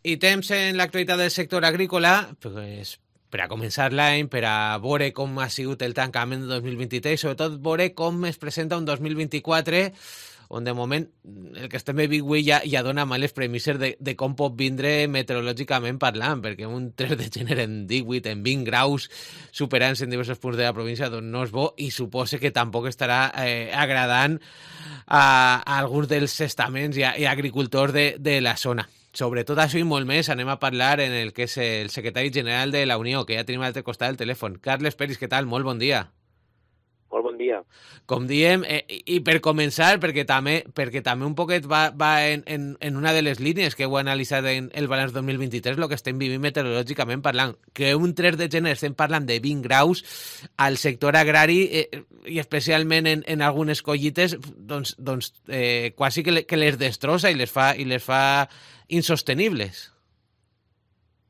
I temps en l'actualitat del sector agrícola, pues, per a començar l'any, per a veure com ha sigut el tancament de 2023, sobretot veure com es presenta un 2024, on de moment el que estem vivint avui ja dona males premisses de com pot vindre meteorològicament parlant, perquè un 3 de gener en 18, en 20 graus, superant-se en diversos punts de la província, doncs no és bo i suposa que tampoc estarà agradant a alguns dels estaments i agricultors de la zona. Sobre tot això i molt més anem a parlar en el que és el secretari general de la Unió, que ja tenim a l'altre costat del telèfon. Carles Peris, què tal? Molt bon dia. Molt bon dia. Com diem, i per començar, perquè també un poquet va en una de les línies que heu analitzat en el balanç 2023, el que estem vivint meteorològicament parlant, que un 3 de gener estem parlant de 20 graus al sector agrari i especialment en algunes collites, quasi que les destrossa i les fa insostenibles.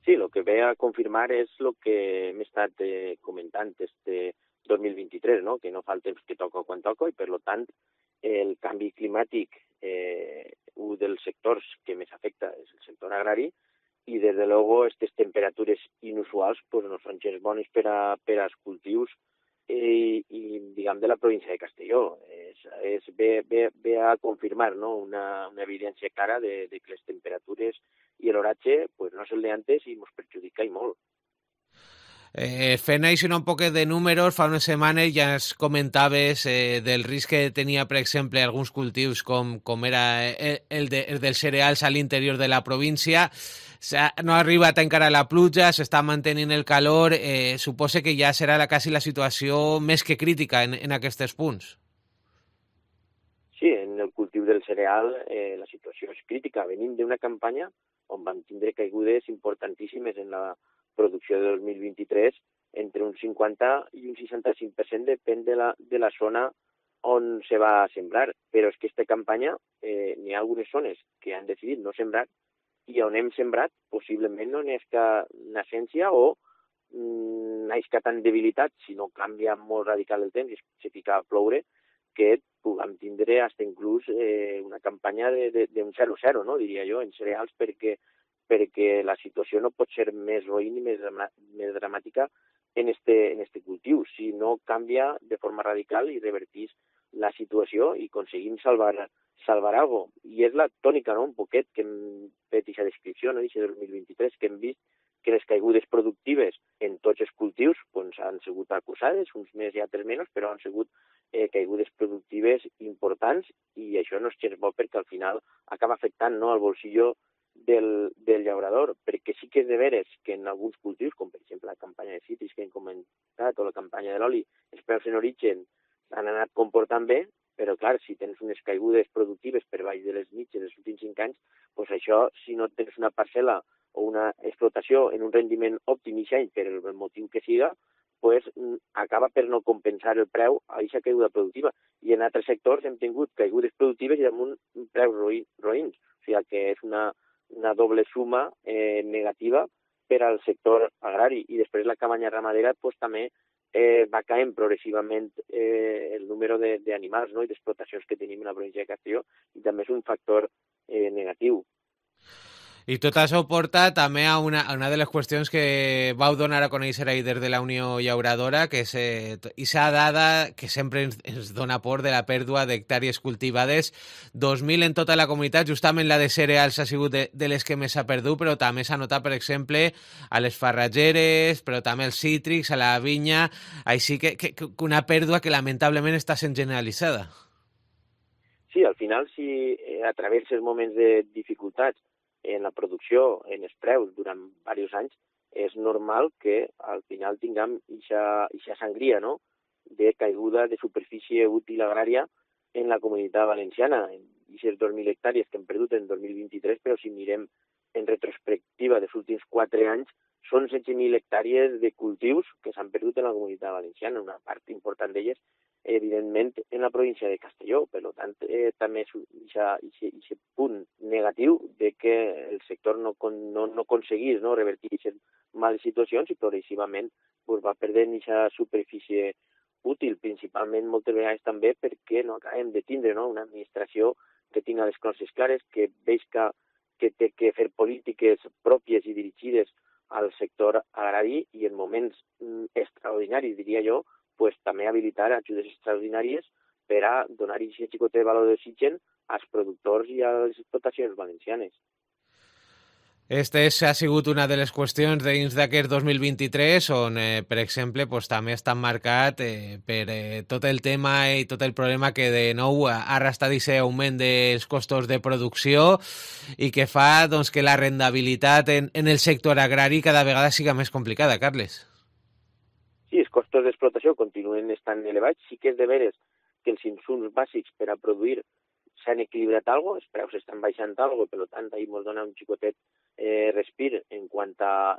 Sí, el que ve a confirmar és el que hem estat comentant este 2023, no? Que no fa el temps que toca quan toca i, per tant, el canvi climàtic, un dels sectors que més afecta és el sector agrari i, des de luego, aquestes temperatures inusuals pues, no són gens bones per als cultius diguem, de la província de Castelló. Ve a confirmar, no? una evidència clara de que les temperatures i l'oratge pues, no és el d'antes i ens perjudica i molt. Fent així un poquet de números, fa unes setmanes ja es comentaves del risc que tenia, per exemple, alguns cultius com era el dels cereals a l'interior de la província. No ha arribat encara la pluja, s'està mantenint el calor, suposa que ja serà quasi la situació més que crítica en aquests punts. Sí, en el cultiu del cereal la situació és crítica. Venim d'una campanya on vam tindre caigudes importantíssimes en la producció de 2023, entre un 50 i un 65% depèn de la zona on se va sembrar. Però és que aquesta campanya n'hi ha algunes zones que han decidit no sembrar i on hem sembrat possiblement no n'esca nascència o n'esca tan debilitat, si no canvia molt radical el temps i se fica a ploure, que puguem tindre fins inclús una campanya d'un 0-0, no? Diria jo, en cereals, perquè la situació no pot ser més roïn i més dramàtica en este cultiu. Si no canvia de forma radical i revertís la situació i aconseguim salvar alguna cosa. I és la tònica, no?, un poquet que hem fet aquesta descripció, no?, d'aquest 2023, que hem vist que les caigudes productives en tots els cultius doncs, han sigut acusades, uns més i altres menys, però han sigut caigudes productives importants i això no és gens bo perquè al final acaba afectant, no?, al bolsillo del llaurador, perquè sí que és de veres que en alguns cultius, com per exemple la campanya de cítrics que hem comentat o la campanya de l'oli, els preus en origen han anat comportant bé, però clar, si tens unes caigudes productives per baix de les mitges dels últims 5 anys, doncs això, si no tens una parcel·la o una explotació en un rendiment òptim i per el motiu que siga, pues, acaba per no compensar el preu a aquesta caiguda productiva. I en altres sectors hem tingut caigudes productives i amb un preu roïns. O sigui que és una doble suma negativa per al sector agrari. I després la campanya ramadera pues, també va caent progressivament el número d'animals, no?, i d'explotacions que tenim en la província de Castelló, i també és un factor negatiu. I tot això porta també a una de les qüestions que vau donar a conèixer ahir des de la Unió Llauradora, que és aquesta dada que sempre ens dona por de la pèrdua d'hectàrees cultivades. 2.000 en tota la comunitat, justament la de cereals ha sigut de les que més s'ha perdut, però també s'ha notat, per exemple, a les farratgeres, però també als cítrics, a la vinya, així que una pèrdua que lamentablement està sent generalitzada. Sí, al final, si atraverses moments de dificultats en la producció, en els preus, durant diversos anys, és normal que al final tinguem aquesta sangria, no?, de caiguda de superfície útil agrària en la comunitat valenciana. Aquestes 2.000 hectàrees que hem perdut en 2023, però si mirem en retrospectiva dels últims 4 anys, són 16.000 hectàrees de cultius que s'han perdut en la comunitat valenciana, una part important d'elles evidentment en la província de Castelló. Per tant, també és aquest punt negatiu de que el sector no aconseguís, no, revertir aquestes males situacions i progressivament pues, va perdent aquesta superfície útil, principalment moltes vegades també perquè no acabem de tindre, no?, una administració que tingui les coses clares, que veig que té que fer polítiques ajudes extraordinàries per a donar aquest xicotet valor d'oxigen als productors i a les explotacions valencianes. Ha sigut una de les qüestions dins d'aquest 2023 on, per exemple, també està marcat per tot el tema i tot el problema que de nou ha arrastrat aquest augment dels costos de producció i que fa doncs, que la rendibilitat en el sector agrari cada vegada siga més complicada, Carles. Sí, els costos d'explotació continuen estant elevats. Sí que és de veres que els insums bàsics per a produir s'han equilibrat algo, els preus estan baixant algo, per tant, ahir ens dona un xicotet respir en quant a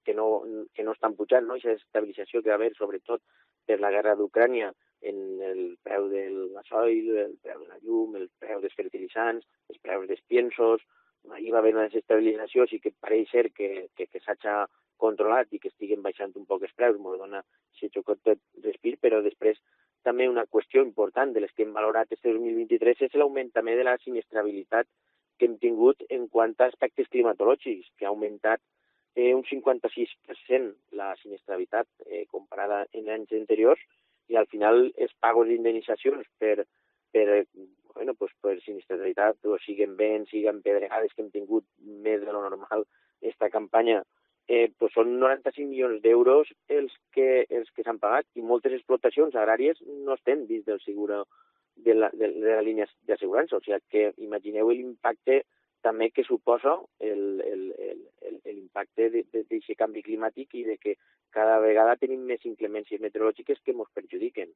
que no estan pujant, no? Aquesta estabilització que va haver, sobretot per la guerra d'Ucrània, en el preu del gasoil, el preu de la llum, el preu dels fertilitzants, els preus dels piensos. Ahir va haver una desestabilització, sí que pareix ser que s'ha controlat i que estiguen baixant un poc els preus, ens dona aquest xicotet respir, però després també una qüestió important de les que hem valorat este 2023 és l'augment també de la sinistrabilitat que hem tingut en quant a aspectes climatològics, que ha augmentat un 56% la sinistrabilitat comparada en anys anteriors, i al final els pagos d'indemnitzacions per sinistralitat, o siguen vents, siguen pedregades que hem tingut més de lo normal esta campanya, són 95 milions d'euros els que s'han pagat, i moltes explotacions agràries no estan dins del seguro de la línia d'assegurança. O sigui que imagineu l'impacte també que suposa l'impacte d'aquest canvi climàtic i de que cada vegada tenim més inclemències meteorològiques que ens perjudiquen.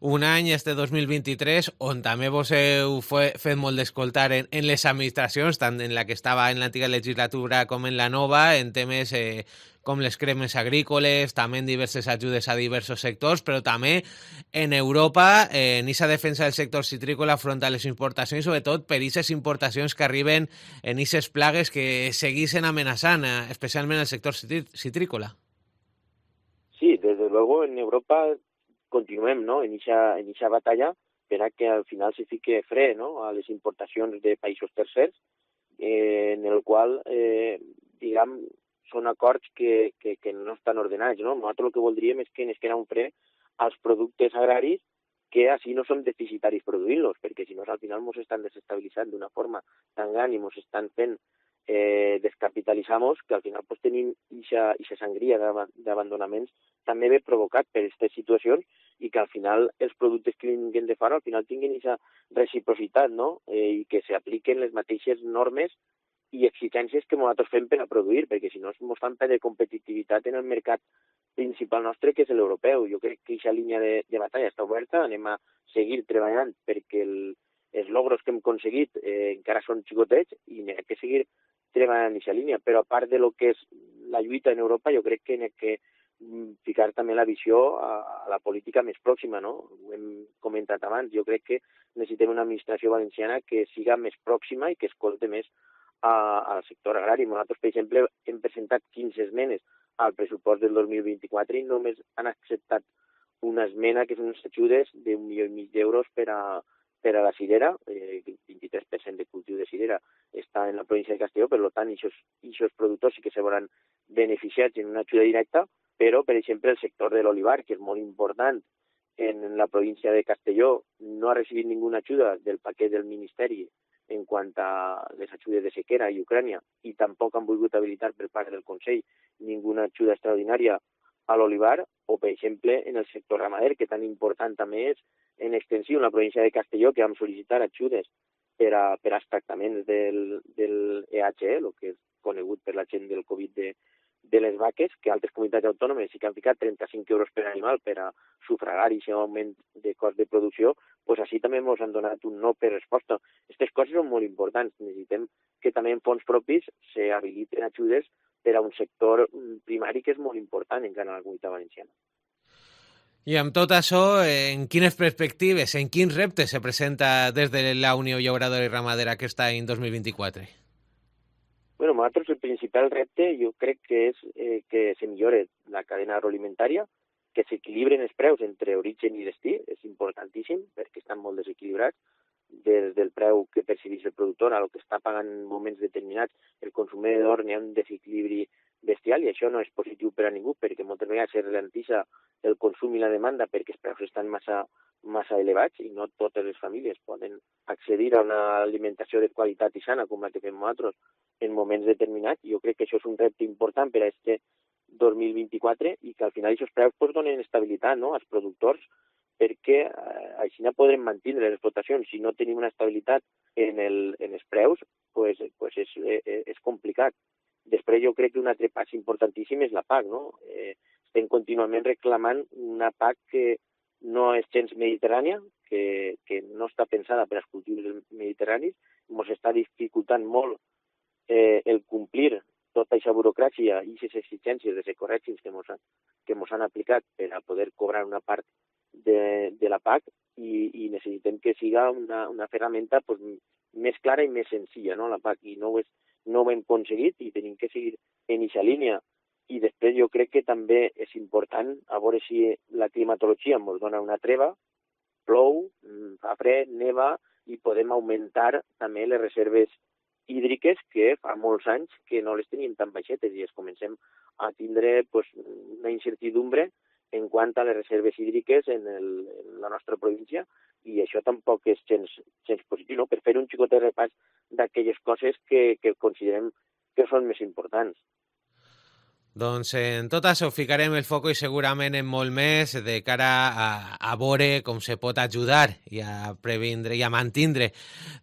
Un any, este 2023, on també vos heu fet molt d'escoltar en les administracions, tant en la que estava en l'antiga legislatura com en la nova, en temes com les cremes agrícoles, també en diverses ajudes a diversos sectors, però també en Europa, en aquesta defensa del sector citrícola front a les importacions, sobretot per aquestes importacions que arriben en aquestes plagues que segueixen amenaçant, especialment el sector citrícola. Sí, desde luego en Europa continuem, no?, en eixa batalla per a que al final se fique fre, no?, a les importacions de països tercers, en el qual, diguem, són acords que no estan ordenats, no? Nosaltres el que voldríem és que ens queda un fre als productes agraris que així no som deficitaris produint-los, perquè si no al final ens estan desestabilitzant d'una forma tan gran i ens estan fent descapitalitzar-nos, que al final pues, tenim aquesta sangria d'abandonaments també ve provocat per aquestes situacions, i que al final els productes que vinguin de fora al final tinguin aquesta reciprocitat, no? I que s'apliquen les mateixes normes i exigències que nosaltres fem per a produir, perquè si no ens fan perdre competitivitat en el mercat principal nostre, que és l'europeu. Jo crec que aquesta línia de batalla està oberta, anem a seguir treballant perquè els logros que hem aconseguit encara són xicotets i n'hem que seguir treballant en aquesta línia, però a part de lo que és la lluita en Europa, jo crec que n'hem que ficar també la visió a la política més pròxima, no? Ho hem comentat abans, jo crec que necessitem una administració valenciana que siga més pròxima i que escolte més al sector agrari. Nosaltres, per exemple, hem presentat 15 esmenes al pressupost del 2024 i només han acceptat una esmena que són unes ajudes d'1,5 milió d'euros per a la cirera, el 23% de cultiu de cirera està en la província de Castelló, per tant, aquests productors sí que se veuran beneficiats en una ajuda directa, però, per exemple, el sector de l'olivar, que és molt important en la província de Castelló, no ha recibit ninguna ajuda del paquet del Ministeri en quant a les ajudes de sequera i Ucrània, i tampoc han volgut habilitar per part del Consell ninguna ajuda extraordinària a l'olivar, o, per exemple, en el sector ramader, que tan important també és en extensió en la província de Castelló, que vam sol·licitar ajudes per als tractaments del EHE, el que és conegut per la gent del Covid de les vaques, que altres comunitats autònomes sí que han ficat 35 euros per animal per a sufragar aquest augment de cost de producció, doncs així també ens han donat un no per resposta. Aquestes coses són molt importants. Necessitem que també en fons propis s'habiliten ajudes per a un sector primari que és molt important encara a la comunitat valenciana. I amb tot això, en quines perspectives, en quins reptes se presenta des de la Unió Llauradora i Ramadera aquest any 2024? Bueno, nosaltres el principal repte jo crec que és que se millore la cadena agroalimentària, que s'equilibren els preus entre origen i destí, és importantíssim perquè estan molt desequilibrats, des del preu que percebeix el productor a el que està pagant en moments determinats el consumidor, n'hi ha un desequilibri bestial, i això no és positiu per a ningú, perquè moltes vegades es ralentissa el consum i la demanda perquè els preus estan massa elevats i no totes les famílies poden accedir a una alimentació de qualitat i sana com la que fem nosaltres en moments determinats. Jo crec que això és un repte important per a este 2024 i que al final aquests preus pues, donen estabilitat, no?, als productors, perquè així no podrem mantenir les explotacions. Si no tenim una estabilitat en els preus, pues és complicat. Després jo crec que un altre pas importantíssim és la PAC, no? Estem contínuament reclamant una PAC que no és gens mediterrània, que no està pensada per als cultius mediterranis, ens està dificultant molt el complir tota aquesta burocràcia i aquestes exigències de ecoregis que ens han aplicat per a poder cobrar una part de la PAC i necessitem que siga una ferramenta pues, més clara i més senzilla, no? La PAC, i no ho hem aconseguit i tenim que seguir en aquesta línia. I després jo crec que també és important a veure si la climatologia ens dona una treva, plou, fa fred, neva i podem augmentar també les reserves hídriques que fa molts anys que no les teníem tan baixetes i es comencem a tindre pues, una incertidumbre en quant a les reserves hídriques en la nostra província i això tampoc és gens positiu, no? Per fer un xicotet repàs d'aquelles coses que considerem que són més importants. Doncs en tot això ficarem el foc i segurament en molt més de cara a veure com se pot ajudar i a previndre i a mantindre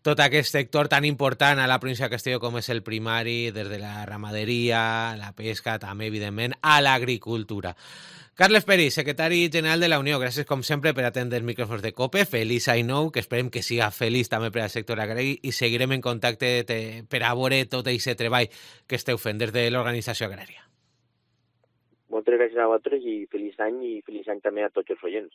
tot aquest sector tan important a la província de Castelló com és el primari, des de la ramaderia, la pesca, també, evidentment, a l'agricultura. Carles Peris, secretari general de la Unió, gràcies com sempre per atendre els micròfons de COPE. Feliç any nou, que esperem que siga feliç també per al sector agrari i seguirem en contacte per a veure tot aquest treball que esteu fent des de l'organització agrària. Moltes gràcies a vosaltres i feliç any també a tots els oients.